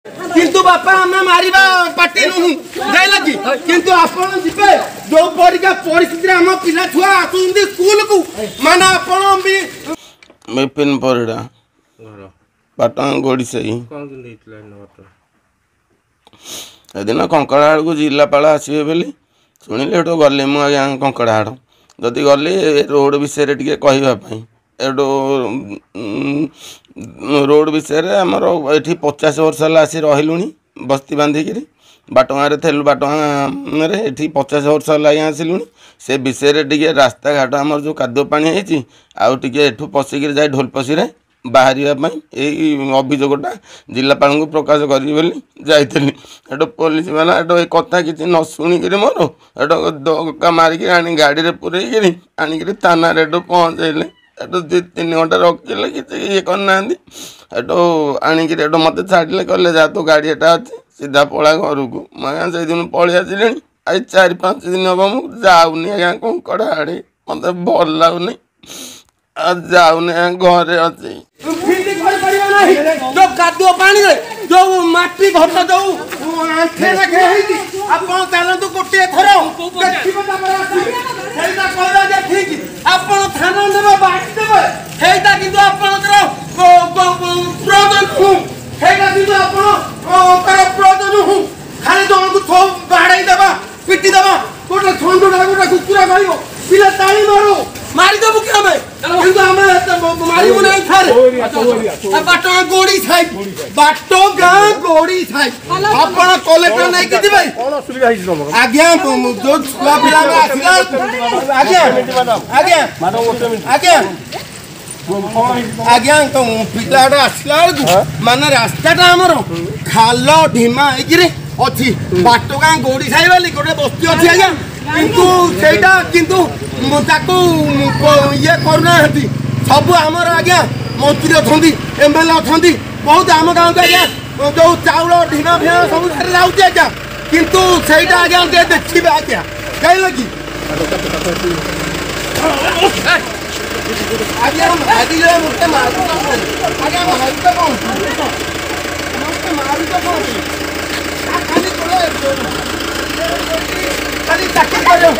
କିନ୍ତୁ ବାପା, ଆମେ ମାରିବା ପାର୍ଟି ନୁହଁ, ଯାଇଲା କି? କିନ୍ତୁ ଆପଣ ଯିବେ, ଯୋଉ ପରିକା ପରିସ୍ଥିତିରେ ଆମ ପିଲା ଛୁଆ ଆସୁଛନ୍ତି ସ୍କୁଲକୁ, ମାନେ ଆପଣ ବି। ବିପିନ ପରିଡ଼ା, ପାଟଣା ଗୋଡ଼ିସାହି। ଏଦିନ କଙ୍କଡ଼ାହାଡ଼କୁ ଜିଲ୍ଲାପାଳ ଆସିବେ ବୋଲି ଶୁଣିଲି, ସେଠୁ ଗଲି ମୁଁ ଆଜ୍ଞା କଙ୍କଡ଼ାହାଡ଼। ଯଦି ଗଲି ରୋଡ଼ ବିଷୟରେ ଟିକେ କହିବା ପାଇଁ, ଏଠୁ ରୋଡ଼ ବିଷୟରେ ଆମର ଏଠି 50 ବର୍ଷ ହେଲା ଆସି ରହିଲୁଣି ବସ୍ତି ବାନ୍ଧିକିରି। ବାଟଗାଁରେ ଥିଲୁ, ବାଟଗାଁରେ ଏଠି 50 ବର୍ଷ ହେଲା ଆଜ୍ଞା ଆସିଲୁଣି। ସେ ବିଷୟରେ ଟିକେ ରାସ୍ତାଘାଟ ଆମର ଯେଉଁ କାଦୁଅ ପାଣି ହେଇଛି, ଆଉ ଟିକେ ଏଠୁ ପଶିକିରି ଯାଇ ଢୋଲପଶିରେ ବାହାରିବା ପାଇଁ ଏଇ ଅଭିଯୋଗଟା ଜିଲ୍ଲାପାଳଙ୍କୁ ପ୍ରକାଶ କରିବି ବୋଲି ଯାଇଥିଲି। ସେଠୁ ପୋଲିସ ବାଲା ଏଠୁ ଏ କଥା କିଛି ନ ଶୁଣିକିରି ମୋର ଏଠୁ ଧକ୍କା ମାରିକି ଆଣି ଗାଡ଼ିରେ ପୁରେଇକିରି ଆଣିକିରି ଥାନାରେ ଏଠୁ ପହଞ୍ଚେଇଲେ। ଏଠୁ 2 3 ଘଣ୍ଟା ରଖିଲେ, କିଛି ଇଏ କରିନାହାନ୍ତି। ଏଠୁ ଆଣିକିରି ଏଠୁ ମୋତେ ଛାଡ଼ିଲେ, କହିଲେ ଯା, ତୋ ଗାଡ଼ି ଏଟା ଅଛି, ସିଧା ପଳା ଘରକୁ। ମୁଁ ଆଜ୍ଞା ସେଇଦିନ ପଳେଇ ଆସିଲିଣି। ଆଜି 4 5 ଦିନ ହେବ ମୁଁ ଯାଉନି ଆଜ୍ଞା କଙ୍କଡ଼ାହାଡ଼, ମୋତେ ଭଲ ଲାଗୁନି, ଆଉ ଯାଉନି ଆଜ୍ଞା, ଘରେ ଅଛି। ଫିଲ୍ଡ କରିପାରିବ ନାହିଁ। ଯୋଉ କାଦୁଅ ପାଣିରେ ଯୋଉ ମାଟି ଘଟ ଯୋଉ ଆଣ୍ଠେ ଲେଖେ ହେଇଛି, ଆପଣ ଚାଲନ୍ତୁ ଗୋଟିଏ ଥର ଦେଖିବେ, ତାପରେ ଆସିବେ, ସେଇଟା କହିବା ଯେ ଠିକ। ଆପଣ ଥାନା ନେବେ, ବାଡ଼ି ଦେବେ, ସେଇଟା କିନ୍ତୁ ଆପଣଙ୍କର ପ୍ରୟୋଜନ ନୁହଁ। ସେଇଟା କିନ୍ତୁ ଆପଣଙ୍କର ପ୍ରୟୋଜନ ନୁହଁ। ଖାଲି ଜଣକୁ ବାଡ଼େଇ ଦେବା, ପିଟି ଦେବା, ଗୋଟେ ଷଣ୍ଢଟା ଗୋଟେ କୁକୁରା ମାରିବ, ପିଲା ତାଳି ମାରୁ, ମାରିଦେବୁ କି ଆମେ? କିନ୍ତୁ ଆମେ ମାରିବୁ ନାହିଁ। ଥରେ ବାଟ ଗୋଡ଼ି ସାଇ, ବାଟ ଗାଁ ଗୋଡ଼ି ସାଇ, ଆପଣ କଲେକ୍ଟର ନେଇକି ଯିବେ ଆଜ୍ଞା। ଯୋଉ ଛୁଆ ପିଲା ଆସିଲା ଆଜ୍ଞା, ଆଜ୍ଞା ଆଜ୍ଞା ଆଜ୍ଞା, ପିଲାଟା ଆସିଲା ବେଳକୁ ମାନେ ରାସ୍ତାଟା ଆମର ଖାଲ ଢିମା ହେଇକିରି ଅଛି। ବାଟ ଗାଁ ଗୋଡ଼ି ସାହି ବୋଲି ଗୋଟେ ବସ୍ତି ଅଛି ଆଜ୍ଞା, କିନ୍ତୁ ସେଇଟା କିନ୍ତୁ ତାକୁ ଇଏ କରୁନାହାନ୍ତି। ସବୁ ଆମର ଆଜ୍ଞା ମନ୍ତ୍ରୀ ଅଛନ୍ତି, ଏମ୍ ଏଲ୍ ଏ ଅଛନ୍ତି, ବହୁତ ଆମ ଗାଁକୁ ଆଜ୍ଞା ଯୋଉ ଚାଉଳ ଢିମା ଫିମା ସବୁ ଯାଉଛି ଆଜ୍ଞା, କିନ୍ତୁ ସେଇଟା ଆଜ୍ଞା ଟିକେ ଦେଖିବେ ଆଜ୍ଞା, ଜାଣିଲେ କି ଆଜ୍ଞା? ଆଜି ମୋତେ ମାରୁଛ ଆଜ୍ଞା, ମାରୁଛ କ'ଣ? ମୋତେ ମାରୁଛ କ'ଣ? ଖାଲି ଖାଲି ଚାକିରି କରିବ।